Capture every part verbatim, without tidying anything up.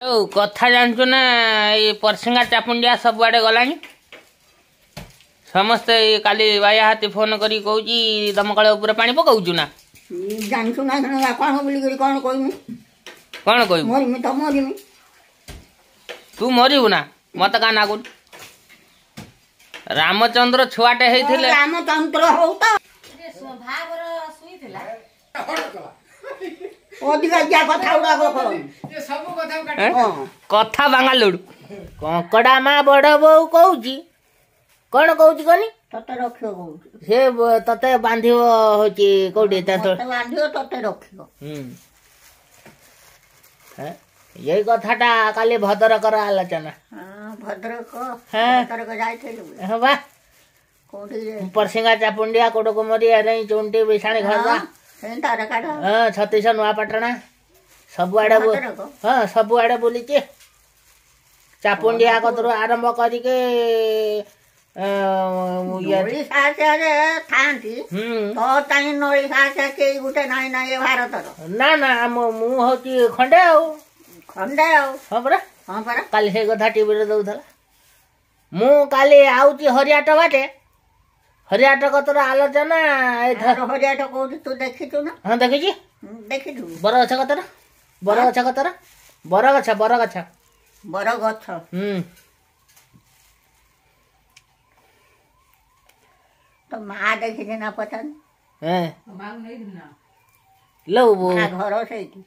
ଆଉ କଥା ଜାଣିଛୁ ନା, ଏଇ ପରସିଙ୍ଗା ଚାପୁଣ୍ଡିଆ ସବୁଆଡ଼େ ଗଲାଣି। ସମସ୍ତେ କାଲି ବାୟା ହାତୀ ଫୋନ କରିକି କହୁଛି, ଦମକଳ ଉପରେ ପାଣି ପକଉଛୁ ନା? ଜାଣିଛୁ ନା କଣ ବୋଲିକରି କଣ କହିମି? କଣ କହିବୁ? ମରିମି ତ ମରିମି। ତୁ ମରିବୁ ନା? ମତେ କାଁ ନାଗୁନି। ରାମଚନ୍ଦ୍ର ଛୁଆଟେ ହେଇଥିଲେ। ରାମଚନ୍ଦ୍ର ହଉ ତ ଅଧିକା କଥା ଗୁଡାକ। କଥା ବାଙ୍ଗାଲୁଡୁ କଙ୍କଡା ମା ବଡ ବୋଉ କହୁଛି, କଣ କହୁଛି କହନି? ତତେ ରଖିବ କହୁଛି। ସେ ତତେ ବାନ୍ଧିବ ହଉଛି କୋଉଠି? ବାନ୍ଧିବ ତତେ ରଖିବ। ହୁଁ, ଏଇ କଥାଟା କାଲି ଭଦ୍ରକର ଆଲୋଚନା। ଭଦ୍ରକ ଭଦ୍ରକ ଯାଇଥିଲୁ? ହଁ ବା। କୋଉଠି? ପରସିଙ୍ଗା, ଚାପୁଣ୍ଡିଆ, କୋଡକୁମରି, ଏରେଇ, ଚୁଣ୍ଟି, ବିଶାଣି, ଖର୍ଦ୍ଧା, ହଁ, ଛତିଶ, ନୂଆପାଟଣା, ସବୁଆଡେ। ହଁ, ସବୁଆଡେ ବୁଲିଛି। ଚାପୁଣ୍ଡିଆ କତରୁ ଆରମ୍ଭ କରିକି ନଳି ଥାଆନ୍ତି ତ କାହିଁ ନଳି ସାହସ କେହି ଗୋଟେ ନାହିଁ ନା ଏ ଭାରତର? ନା ନା, ମୁଁ ହଉଛି ଖଣ୍ଡେ ଆଉ ଖଣ୍ଡେ ଆଉ। ହଁ ପରା, ହଁ ପରା, କାଲି ସେଇ କଥା ଟିଭିରେ ଦଉଥିଲା। ମୁଁ କାଲି ଆଉଛି ହରିଆଟ ବାଟେ, ହରିଆଟ କତର ଆଲୋଚନା। ହରିଆଟ କୋଉଠି ତୁ ଦେଖିଛୁ ନା? ହଁ, ଦେଖିଛି। ଦେଖିଛୁ? ବରଗଛ କତର, ବରଗଛ କତର, ବରଗଛ, ବରଗଛ, ବରଗଛ। ହୁଁ। ତ ମା ଦେଖିଛି ନା ପଚାର ଘର ସେଇଠି।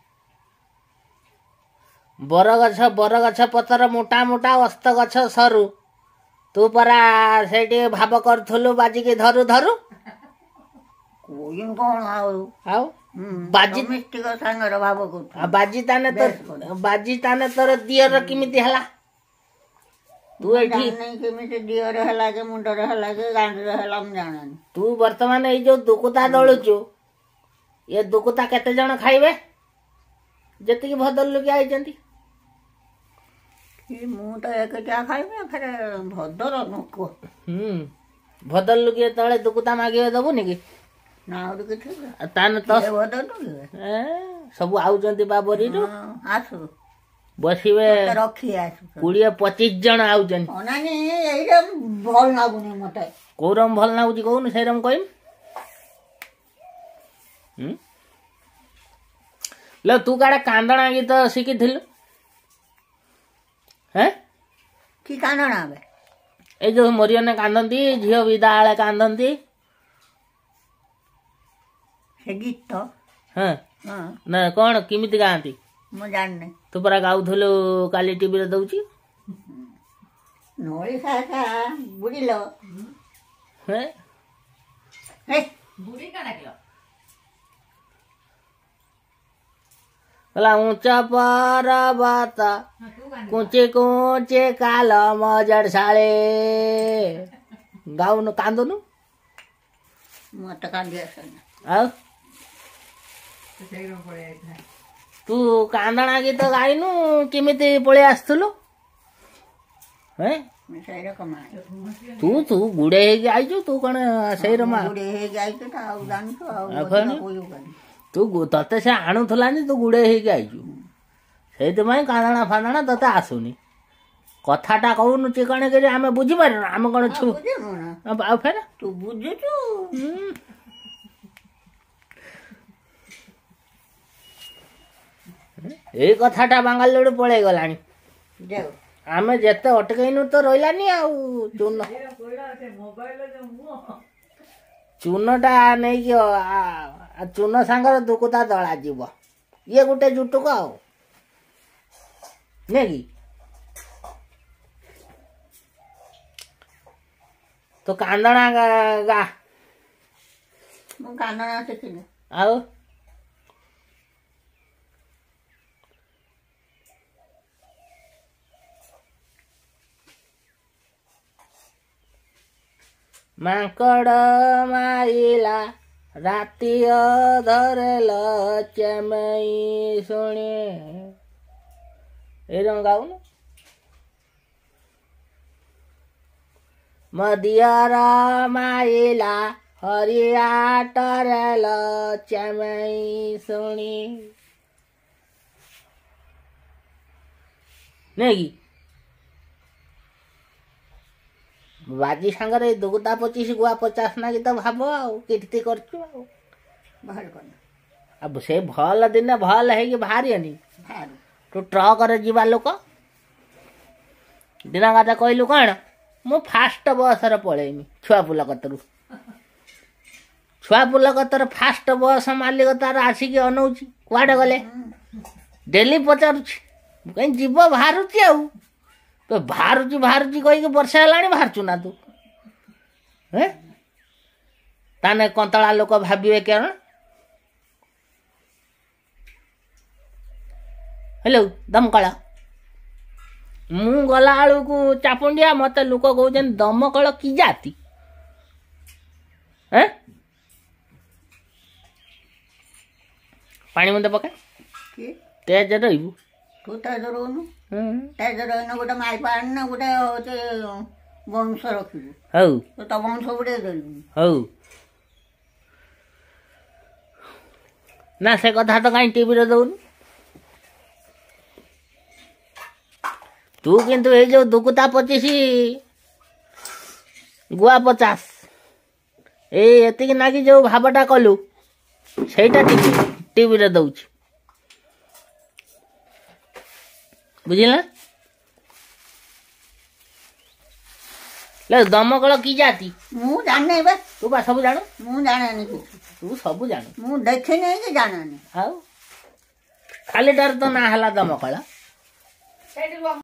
ବରଗଛ, ବରଗଛ ପତର ମୋଟା ମୋଟା, ଅସ୍ତ ଗଛ ସରୁ, ତୁ ପରା ସେଇଠି ଭାବ କରୁଥିଲୁ ବାଜିକି ଧରୁ ଧରୁ। କଣ ଆଉ? ଆଉ ବାଜି ସାଙ୍ଗରେ ଭାବ କରୁଛୁ। ବାଜି ତାନେ ତୋର, ବାଜି ତାନେ ତୋର ଦିଅର କେମିତି ହେଲା? ତୁ ଏଠି କେମିତି ଦିଅର ହେଲା କି ମୁଣ୍ଡରେ ହେଲା କି ଗାଣ୍ଡିରେ ହେଲା ମୁଁ ଜାଣେନି। ତୁ ବର୍ତ୍ତମାନ ଏଇ ଯୋଉ ଦୁକୁତା ଦଳୁଛୁ, ଏ ଦୁକୁତା କେତେ ଜଣ ଖାଇବେ? ଯେତିକି ଭଦ୍ରଲୋକି ଆଇଛନ୍ତି। ମୁଁ ତ ଏକଟିଆ ଖାଇବି, ଫେରେ ଭଦ୍ର ଲୋକ। ହୁଁ, ଭଦ୍ରଲୋକି ଯେତେବେଳେ ଦୁକୁତା ମାଗିବେ ଦବୁନି କି? ନା, ଆହୁରି କିଛି ତାହେଲେ ତ ସବୁ ଆଉଛନ୍ତି ବାବରୀରୁ। ଆସୁ ବସିବେ, ରଖି ଆସୁ। କୋଡ଼ିଏ ପଚିଶ ଜଣ ଆଉଛନ୍ତି। ନାନୀ, ଏଇଟା ଭଲ ଲାଗୁନି ମତେ। କୋଉ ରକମ ଭଲ ଲାଗୁଛି କହୁନୁ, ସେଇ ରକମ କହିମି। ଲୋ, ତୁ କାଳେ କାନ୍ଦଣା ଗୀତ ଶିଖିଥିଲୁ? ହେଁ? କି କାନ୍ଦଣା? ଏଇ ଯୋଉ ମରିୟନେ କାନ୍ଦନ୍ତି, ଝିଅ ବିଦା ବେଳେ କାନ୍ଦନ୍ତି। ସେ ଗୀତ? ହଁ ନା, କଣ କେମିତି ଗାଆନ୍ତି? ମୁଁ ଜାଣିନି। ତୁ ପରା ଗାଉଥିଲୁ କାଲି ଟିଭିରେ ଦଉଛି। ନଳି ସାସା ବୁଝିଲ। କହିଲା ଉଞ୍ଚ ପର୍ବତ କୁଞ୍ଚି କୁଞ୍ଚି କାଲ ମଜଡ଼ ଶାଳେ, ଗାଉନୁ, କାନ୍ଦୁନୁ? ମତେ କାନ୍ଦି ଆସେନି। ଆଉ ତୁ କାନ୍ଦଣା ଗୀତ ଗାଇନୁ, କେମିତି ପଳେଇ ଆସୁଥିଲୁ? ତୁ ତୁ ଗୁଡେଇ ହେଇକି ଆଇଛୁ, ତୁ କଣ ସେଇ ରମା ତୁ ତତେ ସେ ଆଣୁଥିଲାନି, ତୁ ଗୁଡେଇ ହେଇକି ଆଇଛୁ, ସେଇଥିପାଇଁ କାନ୍ଦଣା ଫାନ୍ଦଣା ତତେ ଆସୁନି। କଥାଟା କହୁନୁ ଚିକଣ କରି, ଆମେ ବୁଝିପାରୁନୁ? ଆମେ କଣ ଛୁ? ଆଉ ଫେର ତୁ ବୁଝୁଛୁ। ଏଇ କଥାଟା ବାଙ୍ଗାଲୋର ପଳେଇ ଗଲାଣି। ଆମେ ଯେତେ ଅଟକେଇନୁ ତ ରହିଲାନି। ଆଉ ଚୂନ ଚୂନଟା ନେଇକି ଚୂନ ସାଙ୍ଗରେ ଦୁକୁତା ଦଳା ଯିବ, ଇଏ ଗୋଟେ ଜୁଟୁକ ଆଉ ନାଇଁ କି? ତୁ କାନ୍ଦଣା ଗା। ମୁଁ କାନ୍ଦଣା ଶିଖିନି। ଆଉ ମାଙ୍କଡ଼ ମାଇଲା ରାତି ଅଧରେ ଚେମେଇ ଶୁଣି, ଏଇ ଗାଉନୁ। ମୋ ଦିଅର ମାଇଲା ହରିଆଟରେ ଚେମେଇ ଶୁଣି। ନୁହେଁ କି? ବାଜି ସାଙ୍ଗରେ ଏଇ ଦୁଗୁତା ପଚିଶ ଗୁଆ ପଚାଶ ନାଗି ତ ଭାବ ଆଉ କୀର୍ତ୍ତି କରିଛୁ ଆଉ। ଭଲ କର। ଆଉ ସେ ଭଲ ଦିନେ ଭଲ ହେଇକି ବାହାରିବନି। ବାହାରୁ। ତୁ ଟ୍ରକରେ ଯିବା ଲୋକ, ଦିନ କଥା କହିଲୁ କ'ଣ, ମୁଁ ଫାଷ୍ଟ ବସରେ ପଳେଇମି ଛୁଆ ପୁଲ କତରୁ। ଛୁଆ ପୁଲ କତର ଫାଷ୍ଟ ବସ୍ ମାଲିକ ତାର ଆସିକି ଅନଉଛି, କୁଆଡ଼େ ଗଲେ, ଡେଲି ପଚାରୁଛି। କାହିଁ ଯିବ ବାହାରୁଛି ଆଉ ତ ବାହାରୁଛି ବାହାରୁଛି କହିକି ବର୍ଷେ ହେଲାଣି ବାହାରୁଛୁ ନା ତୁ? ହେ, ତାହେଲେ କନ୍ତଳା ଲୋକ ଭାବିବେ କ'ଣ? ହ୍ୟାଲୋ ଦମକଳ, ମୁଁ ଗଲା ବେଳକୁ ଚାପୁଣ୍ଡିଆ ମତେ ଲୋକ କହୁଛନ୍ତି ଦମକଳ କି ଜାତି? ଏଁ, ପାଣି ମୁନ୍ଦେ ପକା। କି ତେଜ ରହିବୁ। ତୁ ତେଜ ରହୁନୁ, ତେଜ ରହିନ। ଗୋଟେ ମାଇପ ଆଣିନା, ଗୋଟେ ହଉଛି ବଂଶ ରଖିବୁ। ହଉ, ତୁ ତ ବଂଶ ବୁଡ଼େଇ ଦେଲୁ। ହଉ ନା, ସେ କଥା ତ କାହିଁ ଟିଭିରେ ଦଉନି ତୁ? କିନ୍ତୁ ଏଇ ଯୋଉ ଦୁକୁତା ପଚିଶ ଗୁଆ ପଚାଶ ଏଇ ଏତିକି ନାଗି ଯୋଉ ଭାବଟା କଲୁ, ସେଇଟା ଟିଭି ଟିଭିରେ ଦଉଛି, ବୁଝିଲ ନା? ଦମକଳ କି ଜାତି? ମୁଁ ଜାଣିନି ବେ। ତୁ ବା ସବୁ ଜାଣୁ। ମୁଁ ଜାଣେନି କିଛି। ତୁ ସବୁ ଜାଣୁ। ମୁଁ ଦେଖିନି କି ଜାଣେନି। ଆଉ ଖାଲିଟାରେ ତ ନାଁ ହେଲା ଦମକଳ।